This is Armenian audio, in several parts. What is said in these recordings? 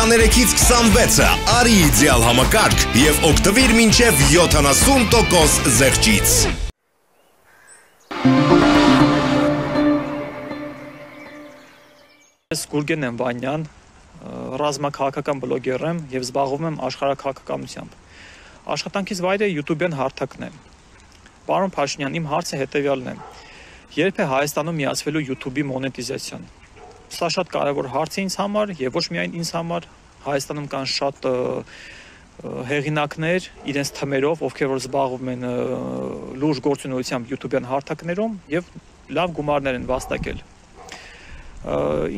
23-ից 26-ը արի իդեալ համակարգ և օգտվիր մինչև 70% զեղչից։ Ես Գուրգեն եմ Վանյան, ռազմաքաղաքական բլոգեր եմ և զբաղվում եմ աշխարհաքաղաքականությամբ։ Աշխատանքիս վայրը YouTube-յան հարթակն է։ Պարոն Փաշինյան, իմ հարցը հետևյալն է. երբ է Հայաստանում միացվելու YouTube-ի մոնետիզացիան։ Սա շատ կարևոր հարց է ինձ համար և ոչ միայն ինձ համար, Հայաստանում կան շատ հեղինակներ իրենց թմերով, ովքեր որ զբաղվում են լուրջ գործունեությամբ YouTube-յան հարթակներում և լավ գումարներ են վաստակել։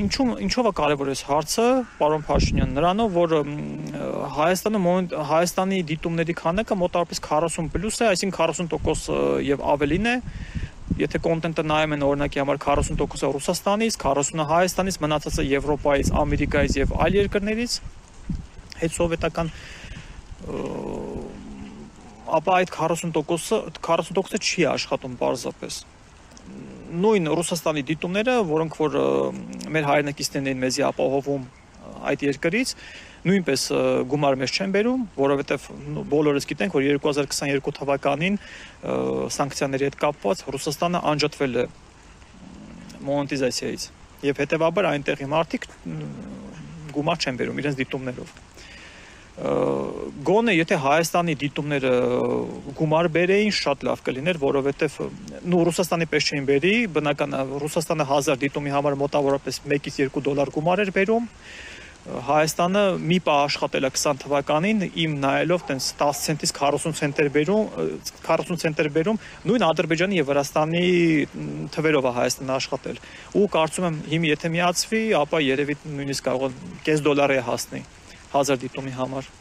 Ինչով է կարևոր այս հարցը, պարոն Փաշինյան, նրանով, որ Հայաստանի դիտումների քանակը մոտավորապես 40+ է, այսինքն 40% և ավելին է, եթե կոնտենտը նայում են օրինակի համար 40%-ը Ռուսաստանից, 40%-ը Հայաստանից, մնացածը Եվրոպայից, Ամերիկայից և այլ երկրներից, հետսովետական, ապա այդ 40%-ը չի աշխատում պարզապես։ Նույն Ռուսաստանի դիտումները, որոնք որ մեր հայրենակիցներն էին մեզի ապահովում այդ երկրից, նույնպես գումար մեզ չեն բերում, որովհետև բոլորս գիտենք, որ 2022 թվականին սանկցիաների հետ կապված Ռուսաստանը անջատվել է մոնետիզացիայից և հետևաբար այնտեղի մարդիկ գումար չեն բերում իրենց դիտումներով։ Գոնե եթե Հայաստանի դիտումները գումար բերեին, շատ լավ կլիներ, որովհետև Ռուսաստանի պես չէին բերի, բնական Ռուսաստանը 1000 դիտումի համար մոտավորապես 1-ից 2 դոլար գումար էր բերում, Հայաստանը մի պահ աշխատել է 20 թվականին, իմ նայելով տենց 10 ցենտից 40 ցենտեր բերում, նույն Ադրբեջանի և Վրաստանի թվերով է Հայաստանը աշխատել։ Ու կարծում եմ, հիմա եթե միացվի, ապա երևի նույնիսկ կարող է կես դոլարի հասնի 1000 դիտումի համար։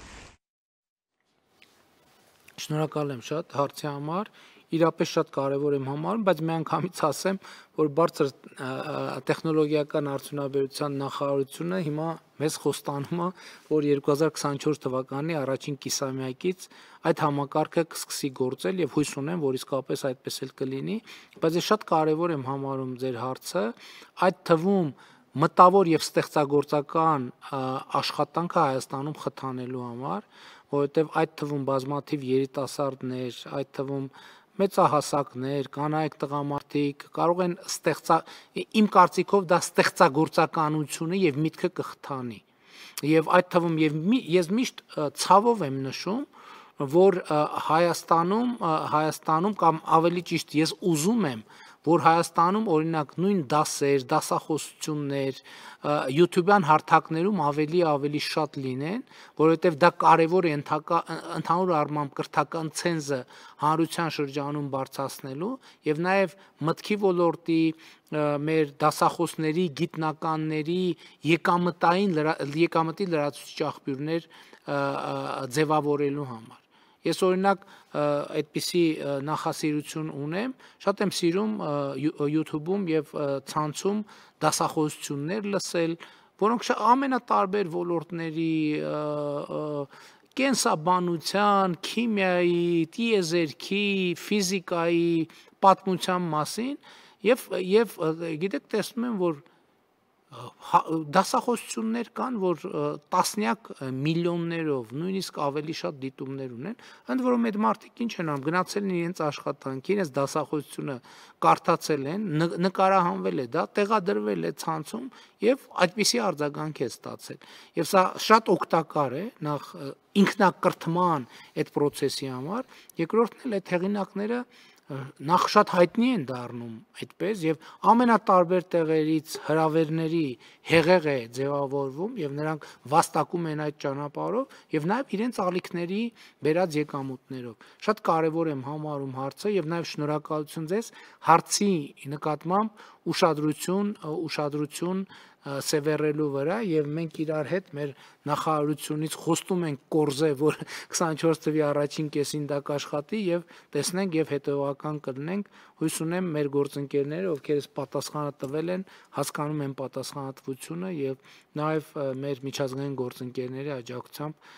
Շնորհակալ եմ շատ հարցի համար, իրապես շատ կարևոր եմ համարում, բայց միանգամից ասեմ, որ բարձր տեխնոլոգիական արդյունաբերության նախարարությունը հիմա մեզ խոստանում է, որ 2024 թվականի առաջին կիսամյակից այդ համակարգը կսկսի գործել և հույս ունեմ, որ իսկապես այդպես էլ կլինի, բայց ես շատ կարևոր եմ համարում ձեր հարցը, այդ թվում մտավոր և ստեղծագործական աշխատանքը Հայաստանում խթանելու համար, որովհետև այդ թվում բազմաթիվ երիտասարդներ, այդ թվում մեծահասակներ, կանայք տղամարդիկ կարող են իմ կարծիքով դա ստեղծագործականությունը և միտքը կխթանի։ Եվ այդ թվում ես միշտ ցավով եմ նշում, որ Հայաստանում կամ ավելի ճիշտ ես ուզում եմ, որ Հայաստանում օրինակ նույն դասեր, դասախոսություններ YouTube-յան հարթակներում ավելի շատ լինեն, որովհետև դա կարևոր է ընդհանուր առմամբ կրթական ցենզը հանրության շրջանում բարձրացնելու և նաև մտքի ոլորտի, մեր դասախոսների, գիտնականների եկամտի լրացուցիչ աղբյուրներ ձևավորելու համար։ Ես օրինակ այդպիսի նախասիրություն ունեմ, շատ եմ սիրում YouTube-ում և ցանցում դասախոսություններ լսել, որոնք ամենատարբեր ոլորտների, կենսաբանության, քիմիայի, տիեզերքի, ֆիզիկայի, պատմության մասին և գիտեք տեսնում եմ, որ դասախոսություններ կան, որ տասնյակ միլիոններով, նույնիսկ ավելի շատ դիտումներ ունեն, ընդ որում այդ մարդիկ ինչ են անում, գնացել են իրենց աշխատանքի, իրենց դասախոսությունը կարդացել են, նկարահանվել է դա, տեղադրվել է ցանցում և այդպիսի արձագանք է ստացել։ Եվ սա շատ օգտակար է, նախ ինքնակրթման այդ պրոցեսի համար, երկրորդն էլ այդ հեղինակները նախ շատ հայտնի են դառնում այդպես և ամենատարբեր տեղերից հրավերների հեղեղ է ձևավորվում և նրանք վաստակում են այդ ճանապարհով և նաև իրենց ալիքների բերած եկամուտներով։ Շատ կարևոր եմ համարում հարցը և նաև շնորհակալություն ձեզ հարցի նկատմամբ ուշադրություն սևեռելու վրա և մենք իրար հետ մեր նախարարությունից խոստում ենք կորզե, որ 24 թվականի առաջին կեսին դա կաշխատի և տեսնենք և հետևողական կլինենք, հույս ունեմ մեր գործընկերները, ովքեր այս պատասխանը տվել են, հասկանում են պատասխանատվությունը և նաև մեր միջազգային գործընկերների աջակցությամբ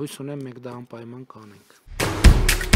հույս ունեմ մենք դա անպայման կանենք։